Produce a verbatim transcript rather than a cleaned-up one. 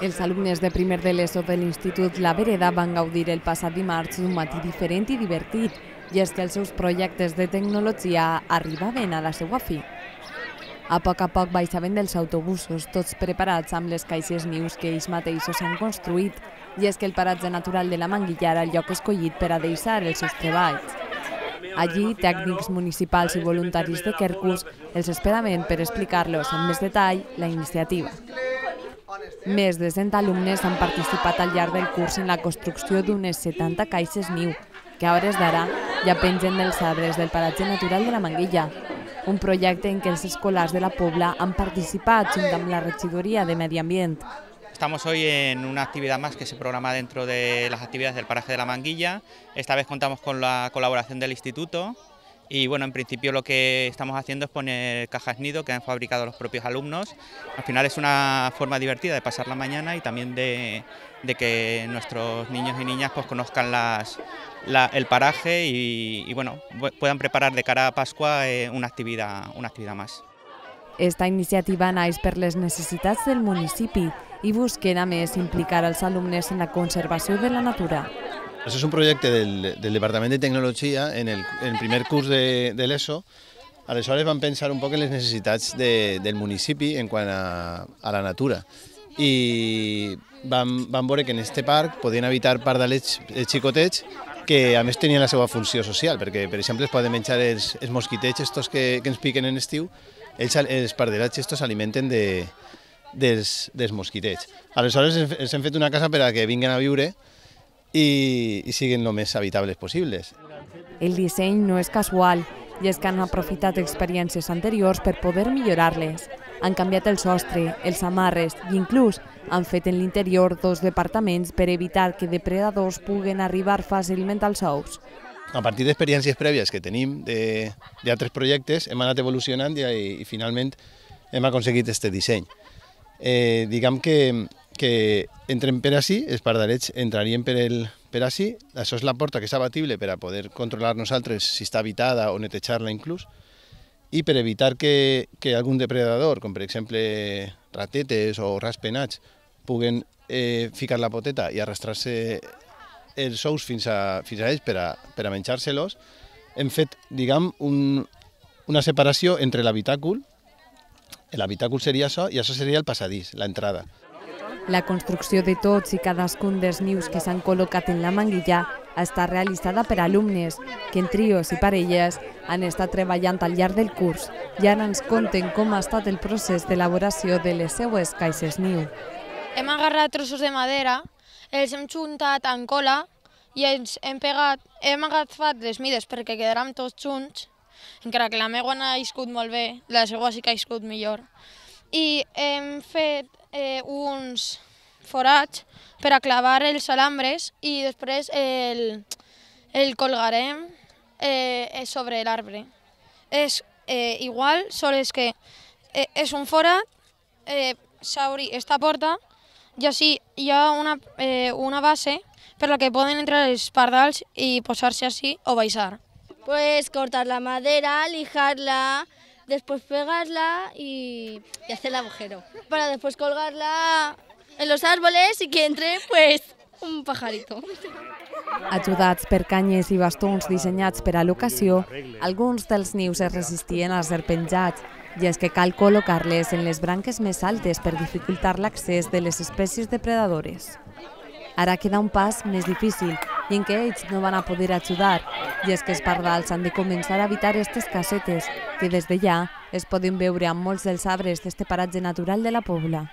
Els alumnes de primer de l'ESO de l'Institut La Vereda van gaudir el passat dimarts d'un matí diferent i divertit, i és que els seus projectes de tecnologia arribaven a la seva fi. A poc a poc baixaven dels autobusos, tots preparats amb les caixes nius que ells mateixos han construït, i és que el paratge natural de la Manguilla era el lloc escollit per a deixar els seus treballs. Allí, tècnics municipals i voluntaris de Quercus els esperaven per explicar-los amb més detall la iniciativa. Més de cent alumnes han participat al llarg del curs en la construcció d'unes setanta caixes niu, que a hores d'ara ja pengen dels arbres del paratge natural de la Manguilla, un projecte en què els escolars de la Pobla han participat junt amb la regidoria de Medi Ambient. Estamos hoy en una actividad más que se programa dentro de las actividades del paraje de la Manguilla. Esta vez contamos con la colaboración del instituto y bueno, en principio lo que estamos haciendo es poner cajas nido que han fabricado los propios alumnos. Al final es una forma divertida de pasar la mañana y también de, de que nuestros niños y niñas pues conozcan las, la, el paraje y, y bueno, puedan preparar de cara a Pascua eh, una actividad, una actividad más. Esta iniciativa naix per les necessitats del municipi i busquen a més implicar els alumnes en la conservació de la natura. Això és un projecte del, del Departament de Tecnologia en el, en el primer curs de, de l'ESO. Aleshores vam pensar un poc en les necessitats de, del municipi en quant a, a la natura i vam, vam veure que en aquest parc podien habitar pardalets xicotets que a més tenien la seva funció social, perquè per exemple es poden menjar els, els mosquitets estos que, que ens piquen en estiu. Ells, els pardalets estos s'alimenten de, dels, dels mosquitets. Aleshores els hem fet una casa per a que vinguin a viure i, i siguin el més habitables possibles. El disseny no és casual, i és que han aprofitat experiències anteriors per poder millorar-les. Han canviat el sostre, els amarres i inclús han fet en l'interior dos departaments per evitar que depredadors puguen arribar fàcilment als ous. A partir d'experiències prèvies que tenim d'altres projectes hem anat evolucionant i, i finalment hem aconseguit aquest disseny. Eh, diguem que, que entren per ací, els pardalets entrarien per, el, per ací, això és la porta que és abatible per a poder controlar nosaltres si està habitada o netejar-la inclús, i per evitar que, que algun depredador, com per exemple ratetes o raspenats, puguen eh, ficar la poteta i arrastrar-se els ous fins a, fins a ells per a, per a menjar-se-los, hem fet, diguem, un, una separació entre l'habitàcul, l'habitàcul seria això i això seria el passadís, l'entrada. La construcció de tots i cadascun dels nius que s'han col·locat en la Manguilla està realitzada per alumnes que en trios i parelles han estat treballant al llarg del curs i ara ens conten com ha estat el procés d'elaboració de les seues caixes niu. Hem agarrat trossos de madera, els hem juntat en cola i ens hem pegat, hem agafat les mides perquè quedaran tots junts, encara que la meva no ha iscut molt bé, la seva sí que ha iscut millor. I hem fet eh, uns forats per a clavar els alambres i després el, el colgarem eh, sobre l'arbre. És eh, igual, sols que eh, és un forat, eh, s'obri esta porta i així hi ha una, eh, una base per la que poden entrar els pardals i posar-se així o baixar. Pues cortar la madera, lijarla, después pegarla y, y hacer el agujero. Para después colgarla en los árboles y que entre pues un pajarito. Ajudats per canyes i bastons dissenyats per a l'ocasió, alguns dels nius es resistien a ser penjats, i és que cal col·locar-les en les branques més altes per dificultar l'accés de les espècies depredadores. Ara queda un pas més difícil i en què ells no van a poder ajudar, i és que els pardals han de començar a habitar aquestes casetes, que des de ja es poden veure amb molts dels arbres d'este paratge natural de la Pobla.